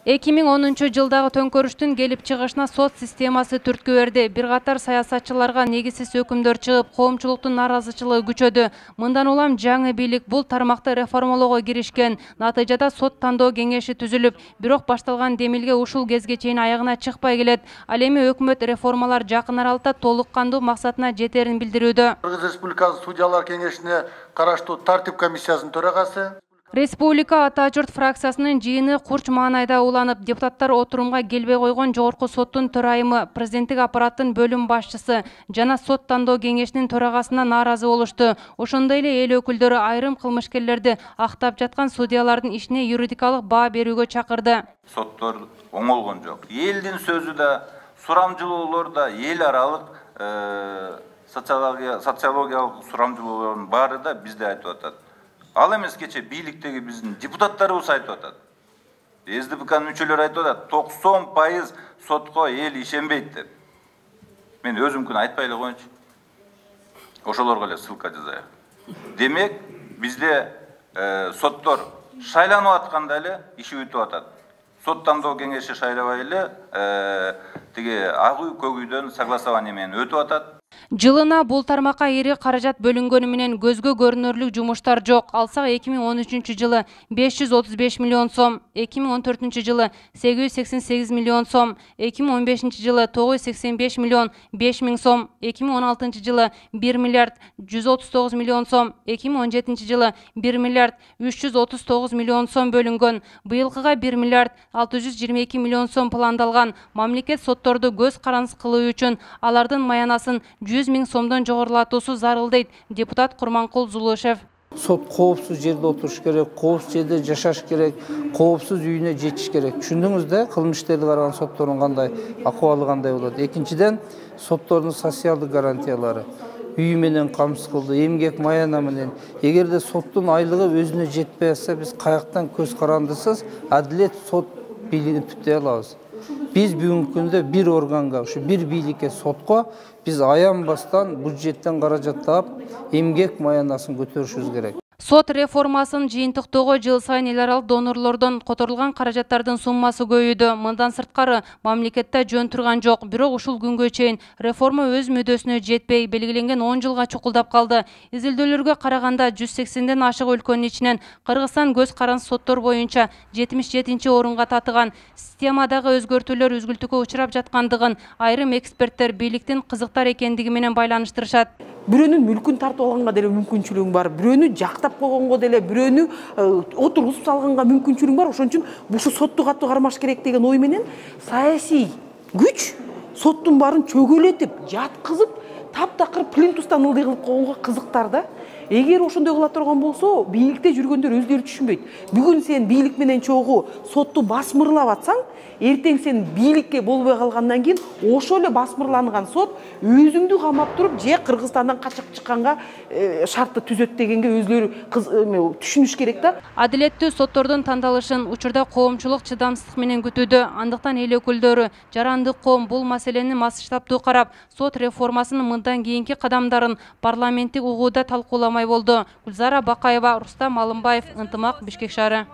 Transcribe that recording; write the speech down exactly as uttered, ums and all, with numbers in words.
эки миң онунчу жылдагы төңкөрүштүн келип чыгышына сот системасы түрткү берди. Бир катар саясатчыларга негизсиз өкүмдөр чыгып, коомчулуктун нааразычылыгы күчөдү. Мындан улам жаңы бийлик бул тармакты реформалоого киришкен. Натыйжада сот тандоо кеңеши түзүлүп, бирок башталган демилге ушул кезге чейин аягына чыкпай келет. Ал эми өкмөт реформалар жакын аралыкта толук кандуу максатына жетерин билдирүүдө. Кыргыз Республикасы судьялар кеңешине караштуу тартип комиссиясынын төрагасы. Республика Ата журт фракциясынын жыйыны Курч маанайда уланып, депутаттар отурумга келбей койгон Жогорку соттун төрайымы, президенттик аппараттын бөлүм башчысы жана сот тандоо кеңешинин төрагасына нааразы болушту. Ошондой эле эл өкүлдөрү айрым кылмышкерлерди актап жаткан судьялардын ишине юридикалык баа берүүгө чакырды. Соттор оңолгон жок. Элдин сөзү да, сурамжылоолор да, эл аралык социологиялык сурамжылоолордун баары да бизде айтып атат. Ал эмес кече бийликтеги биздин депутаттарыбыз айтып атат. эс дэ пэ канын мүчөлөрү айтып атат, токсон пайыз сотко эл ишенбейт деп. Мен өзүмкүн айтпай эле коеюнчу. Ошолорго эле ссылка жазайын. Демек, бизде соттор шайланып атканда эле иши бүтүп атат. Сот тандоо кеңеши шайлабай эле тиги ак үй көк үйдөн согласование менен өтүп атат. Жылына бул тармакка ири каражат бөлүнгөнү менен көзгө көрүнөрлүк жумуштар жок. Алсак эки миң он үчүнчү жылы беш жүз отуз беш миллион сом, эки миң он төртүнчү жылы сегиз жүз сексен сегиз миллион сом, эки миң он бешинчи жылы тогуз жүз сексен беш миллион беш миң сом, эки миң он алтынчы жылы бир миллиард жүз отуз тогуз миллион сом, эки миң он жетинчи жылы бир миллиард үч жүз отуз тогуз миллион сом бөлүнгөн. Быйылкыга бир миллиард алты жүз жыйырма эки миллион сом пландалган. Мамлекет сотторду көз карандысыз кылуу үчүн алардын маянасын жүз миң сомдон жогорулатуусу зарыл дейт депутат Курманкул Зулушев. Сот коопсуз жерде отуруш керек, коопсуз жерде жашаш керек, коопсуз үйүнө жетиш керек. Түшүндүңүз да, кылмыш иштерди караган соттордун кандай акыбалы кандай болот. Экинчиден, соттордун социалдык гарантиялары, үй менен камсыз кылды, эмгек маяна менен. Эгерде соттун айлыгы өзүнө жетпей атса, биз каяктан көз карандысыз адилет сот бийлигин түптөй алабыз. Биз бүгүнкү күндө бир органга, ушу бир бийликке, сотко биз аянбастан бюджеттен каражат таап, эмгек маянасын көтөрүшүбүз керек. Сот реформасын жыйынтыктоого жыл сайын эл аралык донорлордон которулган каражаттардын суммасы көбөйдү. Мындан сырткары мамлекетте жөн турган жок. Бирок ушул күнгө чейин реформа өз мүддөсүнө жетпей, белгиленген он жылга чукулдап калды. Изилдөөлөргө караганда жүз сексенден ашык өлкөнүн ичинен Кыргызстан көз карандысыз соттор боюнча жетимиш жетинчи орунга татыган. Системадагы өзгөртүүлөр үзгүлтүккө учурап жаткандыгын айрым эксперттер бийликтин кызыктар экендиги менен байланыштырышат. Бирөөнүн мүлкүн тартып алганга деле мүмкүнчүлүгүң бар, бирөөнү жактап койгонго деле, бирөөнү отургузуп салганга мүмкүнчүлүгүң бар. Ошон үчүн бушу сотту катуу кармаш керек деген ой менен саясий күч соттун баарын чөгөлөтүп, жаткызып, таптакыр плинтустан ылдый кылып койгонго кызыктар да. Эгер ошондой кыла турган болсо, бийликте жүргөндөр өздөрү түшүнбөйт. Бүгүн сен бийлик менен чогуу сотту басмырлап атсаң, эртең сен бийликке болбой калгандан кийин ошол эле басмырланган сот өзүңдү камап туруп, же Кыргызстандан качып чыкканга шартты түзөт дегенге өзлөрү түшүнүш керек да. Адилеттүү соттордун тандалышын учурда коомчулук чыдамсыздык менен күтүүдө. Андыктан эл өкүлдөрү, жарандык коом бул маселени масштабтуу карап, сот реформасынын мындан кийинки кадамдарын парламенттик угууда талкууламай болду. Гүлзара Бакаева, Рустам Алымбаев, Ынтымак, Бишкек шаары.